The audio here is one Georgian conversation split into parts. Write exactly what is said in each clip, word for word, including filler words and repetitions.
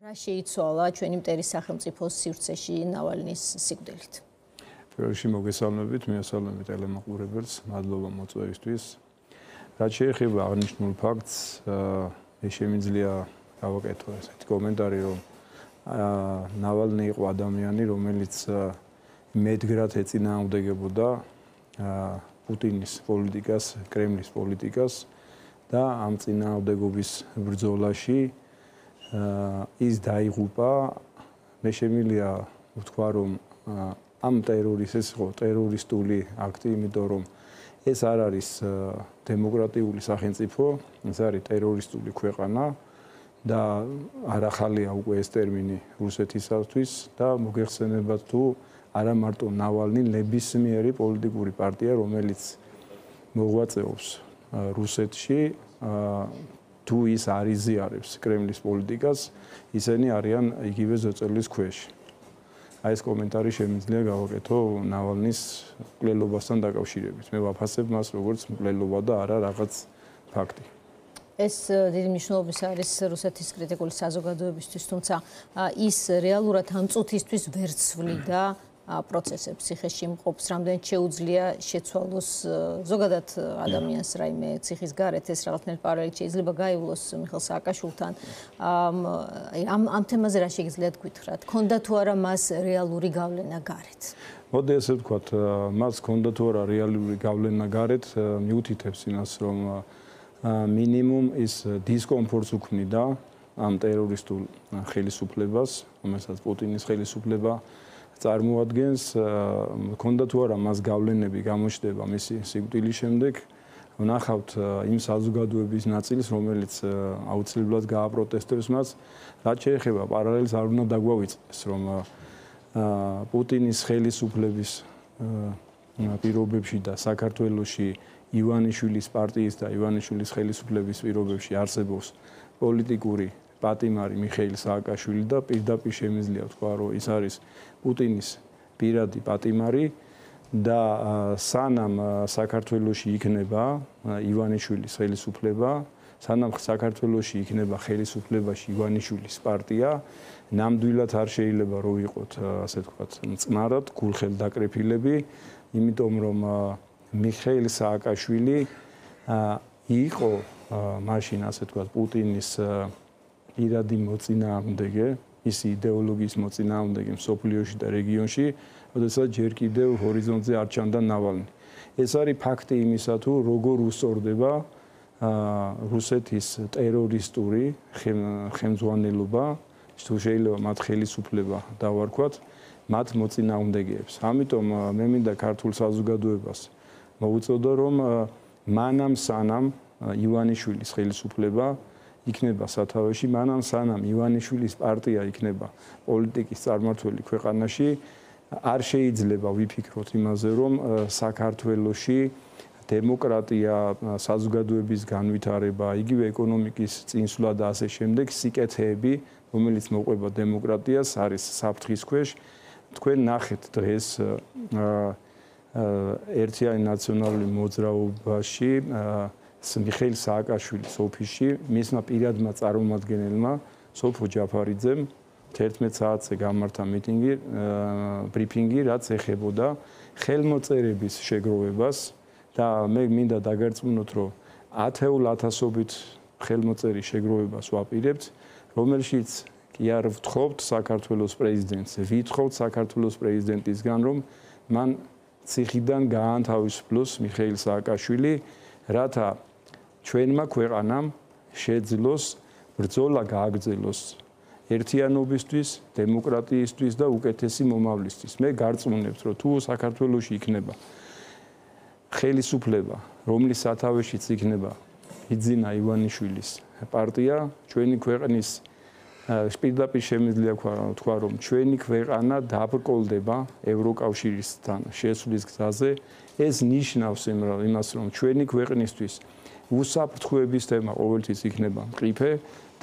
რა შეიცვალა ჩვენი მტერი სახელმწიფოს სივრცეში ნავალნის სიკვდილით? პირველ რიგში მოგესალმებით, მიესალმებით ტელემაყურებელს, მადლობა მოწვევისთვის. რაც შეეხება აღნიშნულ ფაქტს, მე შემიძლია გავაკეთო ესეთი კომენტარი, რომ ნავალნი იყო ადამიანი, რომელიც მედგრად ეწინააღმდეგებოდა პუტინის პოლიტიკას, კრემლის პოლიტიკას და ამ წინააღმდეგობის ბრძოლაში ის დაიღუპა. მე შემიძლია ვთქვა, რომ ამ ტერორის ეს იყო ტერორისტული აქტი, იმიტომ რომ ეს არ არის დემოკრატიული სახელმწიფო, ეს არის ტერორისტული ქვეყანა და არ ახალია უკვე ეს ტერმინი რუსეთისათვის და მოგეხსენებათ თუ არა მარტო ნავალნი, ნებისმიერი პოლიტიკური პარტია, რომელიც მოღვაწეობს რუსეთში, თუ ის არ იზიარებს კრემლის პოლიტიკას, ისინი არიან იგივე ზოწოლის ქვეშ. აი ეს კომენტარი შემიძლია გავაკეთო ნავალნის მკვლელობასთან დაკავშირებით. მე ვაფასებ მას როგორც მკვლელობა და არა რაღაც ფაქტი. ეს დიდი მნიშვნელობის არის რუსეთის კრიტიკული საზოგადოებისთვის, თუმცა ის რეალურად ამ წუთისთვის ვერ ცვლიდა პროცესებს ციხეში მყოფს, რამდენიც შეუძლია შეცვალოს ზოგადად ადამიანს რაიმე ციხის გარეთ, ეს რაღაცნაირ პარალელით შეიძლება გაივლოს მიხეილ სააკაშვილთან. ამ ამ თემაზე რა შეგიძლიათ გითხრათ? ქონდა თუ არა მას რეალური გავლენა გარეთ? მოდი ესე ვთქვათ, მას ქონდა თუ არა რეალური გავლენა გარეთ, მიუთითებს იმას, რომ მინიმუმ ის დისკომფორტს უქმნიდა ამ ტერორისტულ ხელისუფლებას, რომელსაც პუტინის ხელისუფლება წარმოადგენს. ქონდა თუ არა მას გავლენები გამოჩნდება მისი სიკვდილის შემდეგ. ვნახავთ იმ საზოგადოების ნაწილს, რომელიც აუცილებლად გააპროტესტებს მას. რაც შეეხება პარალელს, არ უნდა დაგვავიწყდეს, რომ პუტინის ხელისუფლების პირობებში და საქართველოში ივანიშვილის პარტიის და ივანიშვილის ხელისუფლების პირობებში არსებობს პოლიტიკური პატიმარი მიხეილ სააკაშვილი და პირდაპირ შემიძლია ვთქვა, რომ ის არის პუტინის პირადი პატიმარი და სანამ საქართველოში იქნება ივანიშვილის ხელისუფლება, სანამ საქართველოში იქნება ხელისუფლებაში ივანიშვილის პარტია, ნამდვილად არ შეიძლება რომ ვიყოთ, ასე ვთქვათ, მწყნარად გულხელდაკრეფილები, იმიტომ რომ მიხეილ სააკაშვილი იყო მაშინ, ასე ვთქვათ, პუტინის პირადი მოწინააღმდეგე, მისი იდეოლოგიის მოწინააღმდეგე მსოფლიოში და რეგიონში, როდესაც ჯერ კიდევ ჰორიზონტზე არ ჩანდა ნავალნი. ეს არის ფაქტი იმისა, თუ როგორ უსწორდება რუსეთის ტერორისტული ხელმძღვანელობა, თუ შეიძლება მათ ხელისუფლება დავარქვათ, მათ მოწინააღმდეგეებს. ამიტომ მე მინდა ქართულ საზოგადოებას მოვუწოდო, რომ მანამ სანამ ივანიშვილის ხელისუფლება იქნება სათავეში, მანამ სანამ ივანიშვილის პარტია იქნება პოლიტიკის წარმართველი ქვეყანაში, არ შეიძლება ვიფიქროთ იმაზე, რომ საქართველოში დემოკრატია, საზოგადოების განვითარება, იგივე ეკონომიკის წინსვლა და ასე შემდეგ სიკეთეები, რომელიც მოყვება დემოკრატიას, არის საფრთხის ქვეშ. თქვენ ნახეთ დღეს ერთიანი ნაციონალური მოძრაობაში მიხეილ სააკაშვილის ოფისში მისმა პირადმა წარმომადგენელმა სოფო ჯაფარიძემ თერთმეტ საათზე გამართა მიტინგი, ბრიფინგი, რაც ეხებოდა ხელმოწერების შეგროვებას და მე მინდა დაგარწმუნოთ, რომ ათეულ ათასობით ხელმოწერის შეგროვებას ვაპირებთ, რომელშიც კი არ ვთხოვთ საქართველოს პრეზიდენტს, ვითხოვთ საქართველოს პრეზიდენტისგან, რომ მან ციხიდან გაანთავისუფლოს მიხეილ სააკაშვილი, რათა ჩვენმა ქვეყანამ შეძლოს ბრძოლა გააგრძელოს ერთიანობისთვის, დემოკრატიისთვის და უკეთესი მომავლისთვის. მე გარწმუნებთ, რომ თუ საქართველოში იქნება ხელისუფლება, რომლის სათავეშიც იქნება იძინა ივანიშვილის პარტია, ჩვენი ქვეყნის პირდაპირ შემიძლია ვთქვა, რომ ჩვენი ქვეყანა დაბრკოლდება ევროკავშირისთან შესვლის გზაზე. ეს ნიშნავს იმას, რომ ჩვენი ქვეყნისთვის უსაფრთხოების თემა ყოველთვის იქნება მყიფე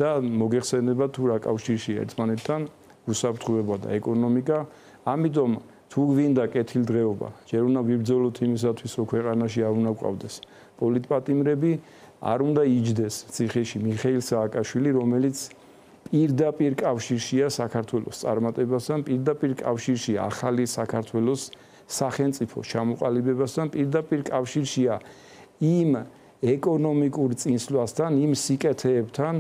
და მოგეხსენება თუ რა კავშირში ერთმანეთთან უსაფრთხოება და ეკონომიკა. ამიტომ თუ გვინდა კეთილდღეობა, ჯერ უნდა ვიბრძოლოთ იმისათვის, რომ ქვეყანაში არ უნდა გვყავდეს პოლიტპატიმრები, არ უნდა იჯდეს ციხეში მიხეილ სააკაშვილი, რომელიც პირდაპირ კავშირშია საქართველოს წარმატებასთან, პირდაპირ კავშირშია ახალი საქართველოს სახელმწიფოს ჩამოყალიბებასთან, პირდაპირ კავშირშია იმ ეკონომიკურ წინსვლასთან, იმ სიკეთეებთან,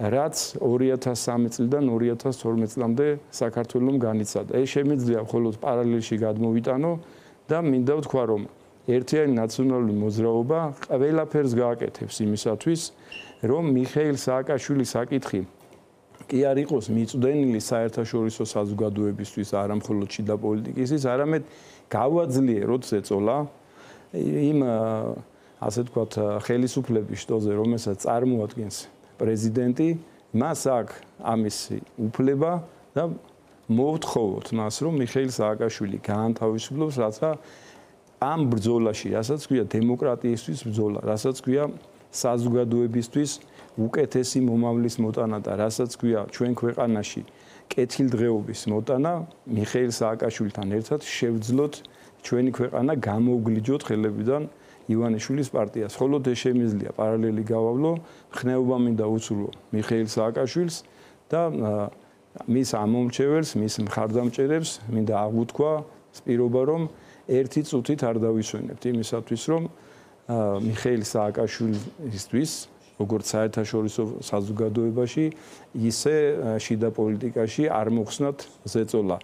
რაც ორი ათას სამი წლიდან ორი ათას თორმეტ წლამდე საქართველოს განიცადა. ეს შემიძლია მხოლოდ პარალელში გადმოვიტანო და მინდა ვთქვა, რომ ერთიანი ნაციონალური მოძრაობა ყველაფერს გააკეთებს იმისათვის, რომ მიხეილ სააკაშვილის საკითხი კი არ იყოს მიწვდენილი საერთაშორისო საზოგადოებისთვის, არა მხოლოდ შიდა პოლიტიკისთვის, არამედ გავაძლიეროთ ზეწოლა იმ ასე ვთქვათ ხელისუფლების შტოზე, რომელსაც წარმოადგენს პრეზიდენტი, მას აქვს ამის უფლება და მოვთხოვოთ მას, რომ მიხეილ სააკაშვილი გაანთავისუფლოს, რათა ამ ბრძოლაში, რასაც ქვია დემოკრატიისთვის ბრძოლა, რასაც ქვია საზოგადოებისთვის უკეთესი მომავლის მოტანა და რასაც ქვია ჩვენ ქვეყანაში კეთილდღეობის მოტანა, მიხეილ სააკაშვილთან ერთად შევძლოთ ჩვენი ქვეყანა გამოვგლიჯოთ ხელებიდან ივანიშვილის პარტიას. მხოლოდ ეს შემიძლია პარალელი გავავლო, ხნეობა მინდა უცვლო მიხეილ სააკაშვილს და მის ამომრჩეველს, მის მხარდამჭერებს მინდა აღვთქვა სპირობა, რომ ერთი წუთით არ დავისვენებთ იმისათვის, რომ მიხეილ სააკაშვილისთვის, როგორც საერთაშორისო საზოგადოებაში, ისე შიდა პოლიტიკაში არ მოხსნათ ზეწოლა.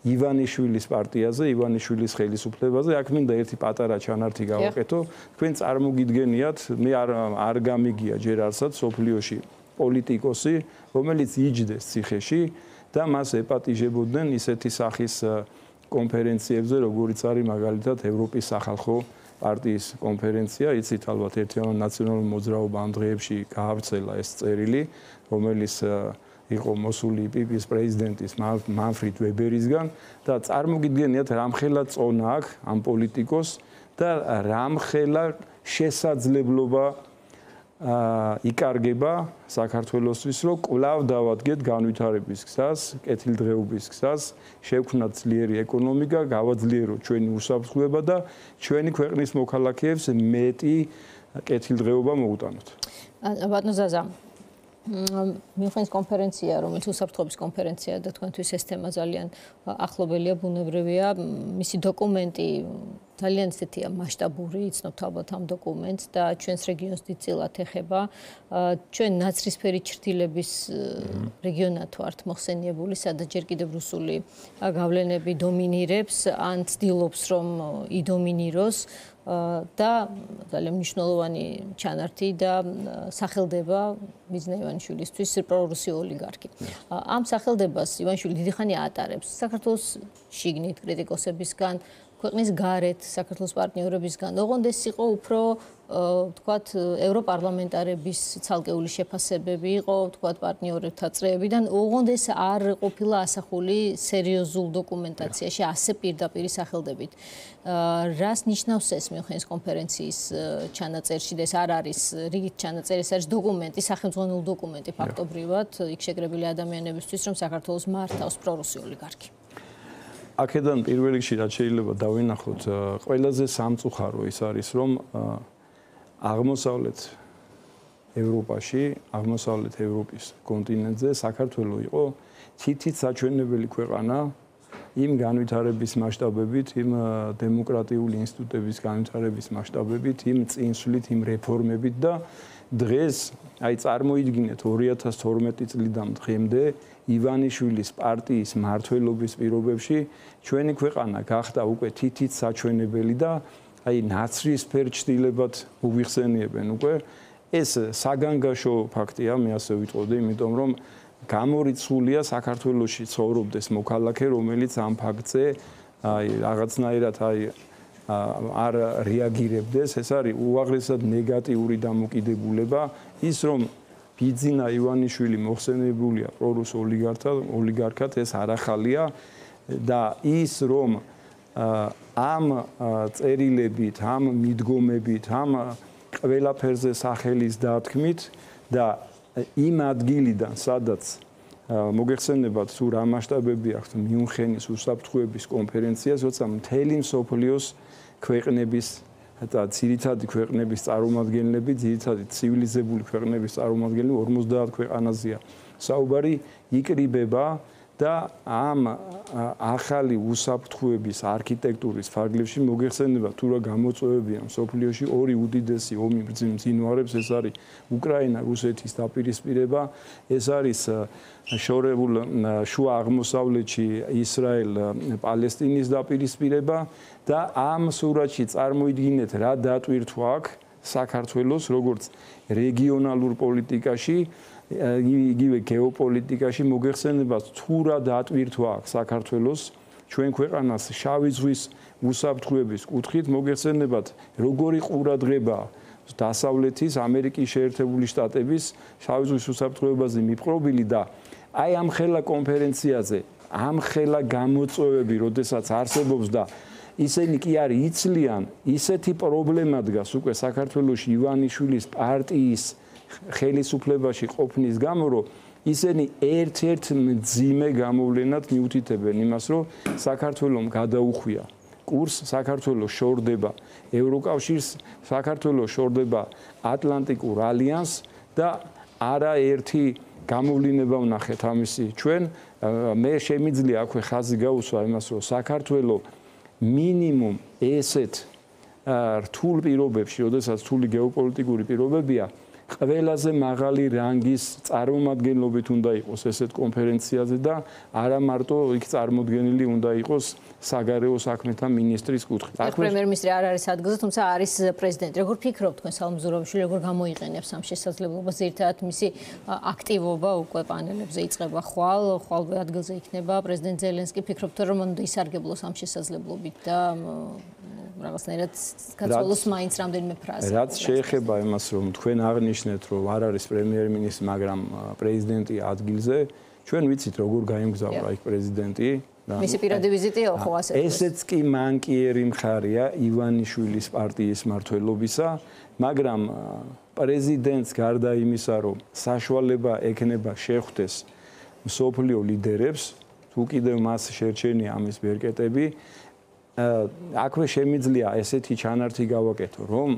ივანიშვილის პარტიაზე, ივანიშვილის ხელისუფლებაზე, აქ მინდა ერთი პატარა ჩანართი გავაკეთო. თქვენ წარმოგიდგენიათ, მე არ არ გამიგია ჯერ არსად სოფლიოში პოლიტიკოსი, რომელიც იჯდეს ციხეში და მას ეპატიჟებოდნენ ისეთი სახის კონფერენციებზე, როგორიც არის მაგალითად ევროპის სახალხო პარტიის კონფერენცია, იცით ალბათ ერთიანი ნაციონალური მოძრაობა ამ დღეებში გაავრცელა ეს წერილი, რომელიც იყო მოსული პიპის პრეზიდენტის მანფრედ ვებერისგან და წარმოგიდგენიათ რამხელა წონა აქვს ამ პოლიტიკოს და რამხელა შესაძლებლობა იკარგება საქართველოსთვის, რომ კვლავ დავადგეთ განვითარების გზას, კეთილდღეობის გზას, შევქმნათ ძლიერი ეკონომიკა, გავაძლიეროთ ჩვენი უსაფრთხოება და ჩვენი ქვეყნის მოქალაქეებს მეტი კეთილდღეობა მოუტანოთ. ბატონო ზაზა, მიხეილს კონფერენცია, რომელიც უსაფრთხოების კონფერენციაა და თქვენთვის ეს თემა ძალიან ახლობელია, ბუნებრივია. მისი დოკუმენტი ძალიან ისეთია მასშტაბური, იცნობთ ალბათ ამ დოკუმენტს და ჩვენს რეგიონს დიდწილად ეხება. ჩვენ ნაცრისფერი ჩრდილების რეგიონად ვართ მოხსენიებული, სადაც ჯერ კიდევ რუსული გავლენები დომინირებს, ან ცდილობს რომ იდომინიროს. და ძალიან მნიშვნელოვანი ჩანართი და სახელდება მიზნა ივანიშვილისთვის პრორუსი ოლიგარქი. ამ სახელდებას ივანიშვილი დიდი ხანი ატარებს საქართველოს შიგნით კრიტიკოსებისგან, ქვეყნის გარეთ საქართველოს პარტნიორებისგან. ოღონდ ეს იყო უფრო ვთქვათ ევროპარლამენტარების ცალკეული შეფასებები იყო, ვთქვათ პარტნიორებთან წრეებიდან. ოღონდ ეს არ ყოფილა ასახული სერიოზულ დოკუმენტაციაში ასე პირდაპირ სახელდებით. რას ნიშნავს ეს მიხეილის კონფერენციის ჩანაწერში და ეს არ არის რიგით ჩანაწერი, ეს არის დოკუმენტი, სახელმწიფო დოკუმენტი ფაქტობრივად, იქ შეკრებილი ადამიანებისთვის, რომ საქართველოს მართავს პრორუსი ოლიგარქი. აქედან პირველ რიგში რაც შეიძლება დავინახოთ, ყველაზე სამწუხარო ის არის, რომ აღმოსავლეთ ევროპაში, აღმოსავლეთ ევროპის კონტინენტზე საქართველო იყო თითით საჩვენებელი ქვეყანა იმ განვითარების მასშტაბებით, იმ დემოკრატიული ინსტიტუტების განვითარების მასშტაბებით, იმ წინსვლით, იმ რეფორმებით და დღეს, აი წარმოიდგინეთ ორი ათას თორმეტი წლიდან დღემდე ივანიშვილის პარტიის მმართველობის პირობებში ჩვენი ქვეყანა გახდა უკვე თითით საჩვენებელი და აი ნაცრისფერ ჩრდილებად უვიხსენიებენ უკვე. ეს საგანგაშო ფაქტია, მე ასე ვიტყოდი, იმიტომ რომ გამორიცხულია საქართველოში ცხოვრობდეს მოქალაქე, რომელიც ამ ფაქტზე აი რაღაცნაირად აი არ რეაგირებდეს. ეს არის უაღრესად ნეგატიური დამოკიდებულება, ის რომ ბიძინა ივანიშვილი მოხსენებულია პრორუს ოლიგარქად, ოლიგარქად ეს არ ახალია და ის რომ ამ წერილებით, ამ მიდგომებით, ამ ყველაფერზე სახელის დათქმით და იმ ადგილიდან, სადაც მოგეხსენებათ თუ რა მასშტაბები აქვს მიუნხენის უსაფრთხოების კონფერენციას, როცა მთელი მსოფლიოს ქვეყნების და ძირითადი ქვეყნების წარმომადგენლები, ძირითადი ცივილიზებული ქვეყნების წარმომადგენლები ორმოცდაათ ქვეყანაზეა საუბარი იკრიბება და ამ ახალი უსაფრთხოების არქიტექტურის ფარგლებში მოგეხსენება თუ რა გამოწვევებია მსოფლიოში ორი უდიდესი ომი მძინვარებს ეს არის უკრაინა რუსეთის დაპირისპირება ეს არის შორეულ შუა აღმოსავლეთში ისრაელ პალესტინის დაპირისპირება და ამ სურათში წარმოიდგინეთ რა დატვირთვა აქვს საქართველოს როგორც რეგიონალურ პოლიტიკაში იგივე გეოპოლიტიკაში მოგეხსენება თუ რა დატვირთვა აქვს საქართველოს ჩვენ ქვეყანას შავი ზღვის უსაფრთხოების კუთხით მოგეხსენებათ როგორი ყურადღება დასავლეთის ამერიკის შეერთებული შტატების შავი ზღვის უსაფრთხოებაზე მიპყრობილი და აი ამ ხელა კონფერენციაზე ამ ხელა გამოწვევები როდესაც არსებობს და ისინი კი არ იცლიან ისეთი პრობლემა დგას უკვე საქართველოში ივანიშვილის პარტიის ხელისუფლებაში ყოფნის გამო რომ ისინი ერთ-ერთ მძიმე გამოვლენად მიუთითებენ იმას რომ საქართველოს გადაუხვია კურს საქართველოს შორდება ევროკავშირს საქართველოს შორდება ატლანტიკურ ალიანსს და არაერთი გამოვლინება ვნახეთ ამისი ჩვენ მე შემიძლია აქვე ხაზი გაუსვა იმას რომ საქართველოს მინიმუმ ესეთ რთულ პირობებში როდესაც რთული გეოპოლიტიკური პირობებია ყველაზე მაღალი რანგის წარმომადგენლობით უნდა იყოს ესეთ კონფერენციაზე და არა მარტო იქ წარმოდგენილი უნდა იყოს საგარეო საქმეთა მინისტრის კუთხით. აქ პრემიერ-მინისტრი არ არის ადგილზე, თუმცა არის პრეზიდენტი. როგორ ფიქრობთ თქვენ სალმზუროვიშვილი, როგორ გამოიყენებს ამ შესაძლებლობას? ერთად მისი აქტივობა უკვე პანელებზე იწყება ხვალ, ხვალვე ადგილზე იქნება პრეზიდენტ ზელენსკი. ფიქრობთ რომ უნდა ისარგებლოს ამ შესაძლებლობით და რაღაცნაირად გაცვალოს მაინც რამდენიმე ფრაზა. რაც შეეხება იმას, რომ თქვენ აღნიშნეთ, რომ არ არის პრემიერ-მინისტრი, მაგრამ პრეზიდენტი ადგილზე, ჩვენ ვიცით როგორ გაიმგზავრა იქ პრეზიდენტი. მისი პირადი ვიზიტია ხო ასე? ესეც კი მანკიერი მხარია ივანიშვილის პარტიის მმართველობისა, მაგრამ პრეზიდენტს გარდა იმისა, რომ საშუალება ექნება შეხვდეს მსოფლიო ლიდერებს, თუ კიდევ მას შერჩენია ამის ბერკეტები, აქვე შემიძლია ესეთი ჩანართი გავაკეთო, რომ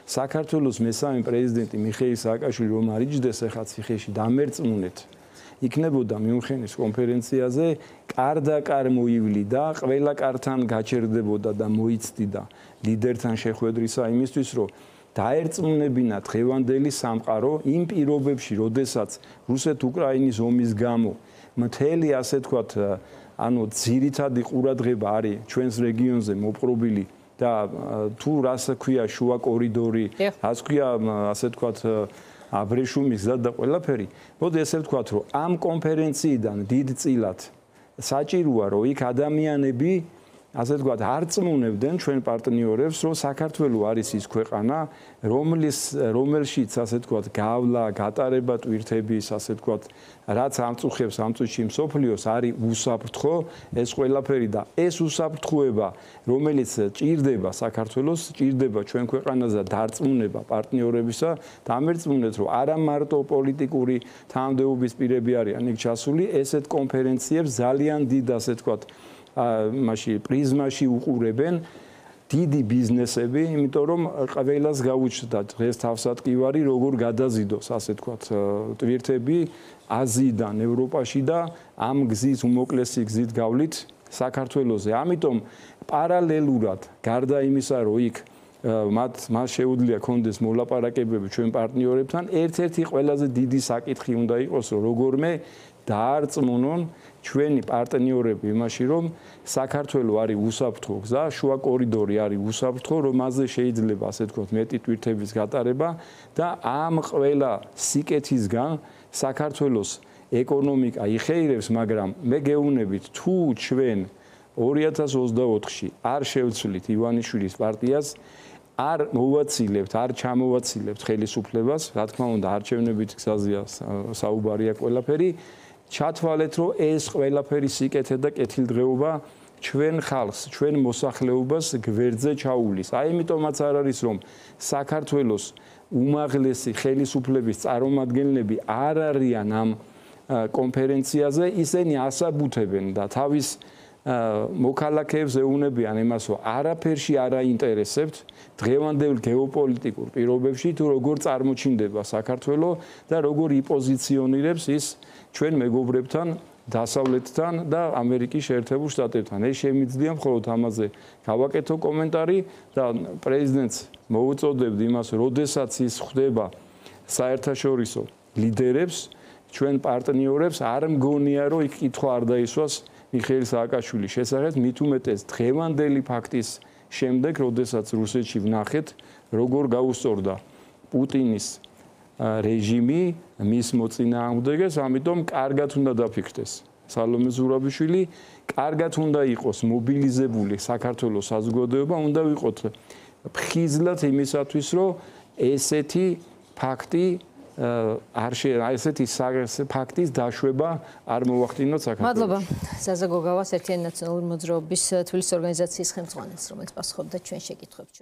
საქართველოს მესამე პრეზიდენტი მიხეილ სააკაშვილი რომ არ იჯდეს ახლა ციხეში დამერწმუნეთ იქნებოდა მიუნხენის კონფერენციაზე კარდაკარ მოივლიდა, ყველა კართან გაჩერდებოდა და მოიცდიდა ლიდერთან შეხვედრისა იმისთვის, რომ დაერწმუნებინა დღევანდელი სამყარო იმ პირობებში, როდესაც რუსეთ-უკრაინის ომის გამო მთელი ასე თქვათ ანუ ძირითადი ყურადღება არის ჩვენს რეგიონზე მოპყრობილი და თუ რას ქვია შუა კორიდორი, რას ქვია ასე თქვათ აბრეშუმის გზა და ყველაფერი. მოდი ესე ვთქვათ, რომ ამ კონფერენციიდან დიდწილად საჭიროა, რომ იქ ადამიანები ასე ვთქვათ, არ წმუნებდნენ ჩვენ პარტნიორებს, რომ საქართველოს არის ის ქვეყანა, რომლის რომელშიც ასე ვთქვათ, გავლა, გატარება ტვირთების, ასე ვთქვათ, რაც ამწუხებს ამ წუთში მსოფლიოს არის უსაფრთხო, ეს ყველაფერი და ეს უსაფრთხოება, რომელიც ჭირდება საქართველოს, ჭირდება ჩვენ ქვეყანაზე დარწმუნება პარტნიორებისა, დამერწმუნეთ, რომ არა მარტო პოლიტიკური თანამდებობის პირები არიან იქ ჩასული, ესეთ კონფერენციებს ძალიან დიდ ასე ვთქვათ მასში პრიზმაში უყურებენ დიდი ბიზნესები, იმიტომ რომ ყველას გაუჩნდა დღეს თავსატკივარი როგორ გადაზიდოს, ასე თქვათ, ტვირთები აზიიდან ევროპაში და ამ გზის უმოკლესი გზით გავლით საქართველოზე. ამიტომ პარალელურად გარდა იმისა, რომ იქ მათ მას შეუძლია კონდეს მოლაპარაკებები ჩვენ პარტნიორებთან, ერთ-ერთი ყველაზე დიდი საკითხი უნდა იყოს, რომ როგორმე დაარწმუნონ ჩვენი პარტნიორები იმაში, რომ საქართველოს არის უსაფრთხო გზა, შუა კორიდორი არის უსაფრთხო, რომ მასზე შეიძლება ასე ვთქვათ მეტი ტვირთების გატარება და ამ ყველა სიკეთისგან საქართველოს ეკონომიკა იხეირებს, მაგრამ მე გეუბნებით, თუ ჩვენ ორი ათას ოცდაოთხში არ შევცვლით ივანიშვილის პარტიას, არ მოვაცილებთ, არ ჩამოვაცილებთ ხელისუფლებას, რა თქმა უნდა, არჩევნებით გზაზეა საუბარია ყველაფერი. ჩათვალეთ, რომ ეს ყველაფერი სიკეთე და კეთილდღეობა ჩვენ ხალხს, ჩვენ მოსახლეობას გვერდზე ჩაუვლის. აი ამიტომაც არ არის, რომ საქართველოს უმაღლესი ხელისუფლების წარმომადგენლები არ არიან ამ კონფერენციაზე, ისინი ასაბუთებენ და თავის მოქალაქეებს ეუბნებიან იმას, რომ არაფერში არ აინტერესებთ დღევანდელ გეოპოლიტიკურ პირობებში თუ როგორ წარმოჩინდება საქართველოს და როგორ იპოზიციონირებს ის ჩვენ მეგობრებთან დასავლეთთან და ამერიკის შეერთებულ შტატებთან. ეს შემიძლია მხოლოდ ამაზე გავაკეთო კომენტარი და პრეზიდენტს მოუწოდებთ იმას, როდესაც ის ხვდება საერთაშორისო ლიდერებს, ჩვენ პარტნიორებს, არ მგონია, რომ იქ კითხვა არ დაისვას მიხეილ სააკაშვილის შესახებ, მით უმეტეს დღევანდელი ფაქტის შემდეგ, როდესაც რუსეთში ვნახეთ, როგორ გაუსწორდა პუტინის რეჟიმი მის მოწინააღმდეგეს, ამიტომ კარგად უნდა დაფიქრდეს სალომე ზურაბიშვილი, კარგად უნდა იყოს მობილიზებული საქართველოს საზოგადოება, უნდა ვიყოთ ფხიზლად იმისათვის, რომ ესეთი ფაქტი არ შეიძლება ესეთი ფაქტის დაშვება არ მოვახდინოთ საქართველოს. მადლობა ზაზა გოგავას ერთიანი ნაციონალური მოძრაობის თბილისის ორგანიზაციის ხელმძღვანელს, რომელიც პასუხობდა ჩვენ შეკითხვებს.